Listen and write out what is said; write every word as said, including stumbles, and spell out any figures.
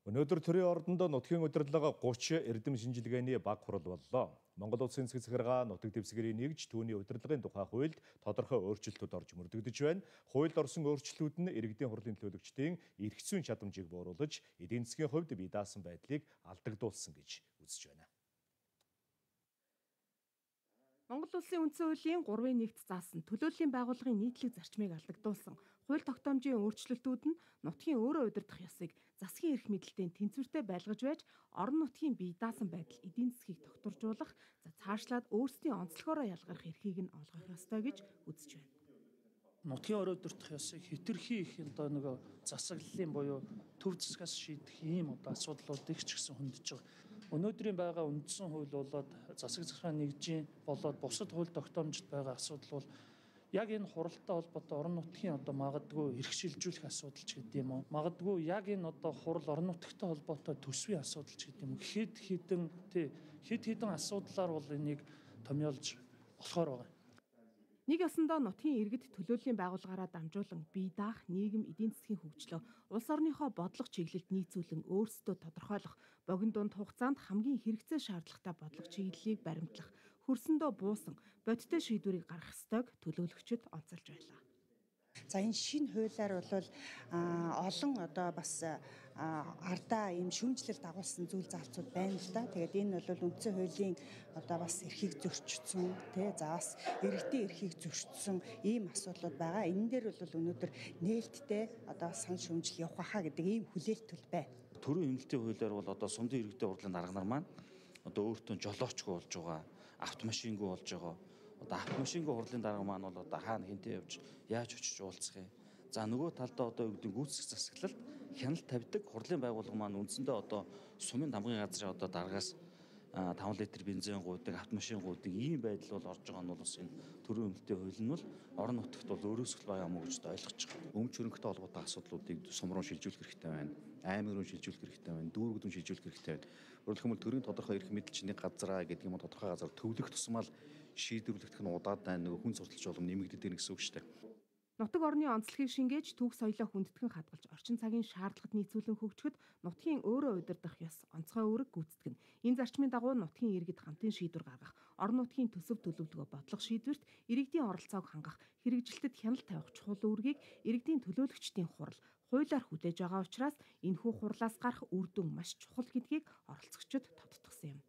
Өнөөдөр төрийн ордонд нутгийн удирдлага гучин эрдэм шинжилгээний баг хурал боллоо. Монгол Улсын засаг захиргаа нутаг дэвсгэрийн нэгж түүний удирдлагын тухай хуульд тодорхой өөрчлөлтүүд орж мөрдөгдөж байна. Хуульд орсон өөрчлөлтүүд нь иргэдийн хурлын төлөөлөгчдийн эрх зүйн чадамжийг бууруулж, эдийн засгийн хувьд бие даасан байдлыг алдагдуулсан гэж үзэж байна. Монгол Улсын үндсэн хуулийн гурван нэгт заасан төлөөллийн байгууллагын нийтлэг зарчмыг алдагдуулсан хууль тогтоомжийн өөрчлөлтүүд нь нутгийн өөрөө удирдах ёсыг засгийн эрх мэдэлтэй тэнцвэртэй байлгаж байж, орон нутгийн бие даасан байдал эдийн засгийг тогтворжуулах, за цаашлаад өөрсдийн онцлогоороо ялгарх эрхийг нь олгох ёстой гэж үзэж байна. Нутгийн өөрөө удирдах ёсыг хэтэрхий их одоо нэг засаглалын буюу төв засгаас шийдэх ийм одоо асуудлуудыг ч гэсэн хөндөж байгаа. Өнөөдрийн байгаа үндсэн хууль болоод засаг захиргааны нэгжийн болоод бусад хууль тогтоомжид байгаа асуудал бол яг энэ хуралтай холбоотой орон нутгийн одоо магадгүй эрх шилжүүлэх асуудал ч гэдэг юм уу. Магадгүй яг энэ одоо хурал орон нутгтай холбоотой төсвийн асуудал ч гэдэг юм уу. Хэд хэдэн тий хэд хэдэн асуудлаар бол энийг томьёолж болохоор байгаа. Нэг ясандаа нутгийн иргэд төлөөллийн байгууллагаараа дамжуулан бие даах нийгэм эдийн засгийн хөгжлөө улс орныхоо бодлого чиглэлд нийцүүлэн өөрсдөө тодорхойлох, богино дунд хугацаанд хамгийн хэрэгцээ шаардлагатай бодлого чиглэлийг баримтлах, хөрсөндөө буусан бодиттой шийдвэрийг гаргах ёстойг төлөөлөгчид онцолж байлаа. За энэ шинэ хуулиар бол олон одоо бас ардаа ийм шүүмжлэл дагуулсан зүйл зарцууд байна л да. Тэгээд энэ бол үндсэн хуулийн одоо бас эрхийг зөрчсөн тий за бас иргэдийн эрхийг зөрчсөн ийм асуудлууд байгаа. Энэ дээр бол өнөөдөр нээлттэй одоо сан шүүмжил явах хаа гэдэг ийм хүлээлт байна. Төрийн хяналтын хуулиар бол одоо сумдын иргэдийн хурлын дарга нар маань одоо өөртөө жолоочгүй болж байгаа, автомашингүй болж байгаа. Одоо автомашингүй хурлын дарга маань бол одоо хаана хинтээ явж яаж очиж уулзах юм. За нөгөө талдаа одоо юу гэдэг гүйцэтгэх засаглалд хяналт тавьдаг хурлын байгууллага маань үндсэндээ одоо сумын дамгын газрын одоо даргаас таван литр бензин гуйдаг, автомашин гуйдаг ийм байдал бол орж байгаа нь бол бас энэ төрийн хяналтын хууль нь бол орон нутагт бол өөрөөсгөл байгаа мó гэж ойлгож байгаа. Өмч хөрөнгөтэй холбоотой асуудлуудыг сум руу шилжүүлэх хэрэгтэй байна. Аймаг руу шилжүүлэх хэрэгтэй байна. Дүүрэг рүү шилжүүлэх хэрэгтэй байна. Өөрөлдөх юм бол төрийн тодорхой эрх мэдэлчний газраа гэдэг юм тодорхой газар төвлөх тусмал шийдвэрлэгдэх нь удаад байна. Нөгөө хүн сурталч болом нэмэгддэг гэсэн үг шүү дээ. Нутаг орны онцлогийг шингээж түүх соёлоо хүндэтгэн хадгалж орчин цагийн шаардлагад нийцүүлэн хөгжөхөд нутгийн өөрөө удирдах ёс онцгой үүрэг гүйцэтгэнэ. Энэ зарчмын дагуу нутгийн иргэд хамтын шийдвэр гаргах, орон нутгийн төсөв төлөвлөгөө бодлого шийдвэрт иргэдийн оролцоог хангах, хэрэгжилтэд хяналт тавих чухал үүргийг иргэдийн төлөөлөгчдийн хурал хуулиар хүлээж байгаа учраас энэхүү хурлаас гарах үр дүн маш чухал гэдгийг оролцогчид тодтогсон юм.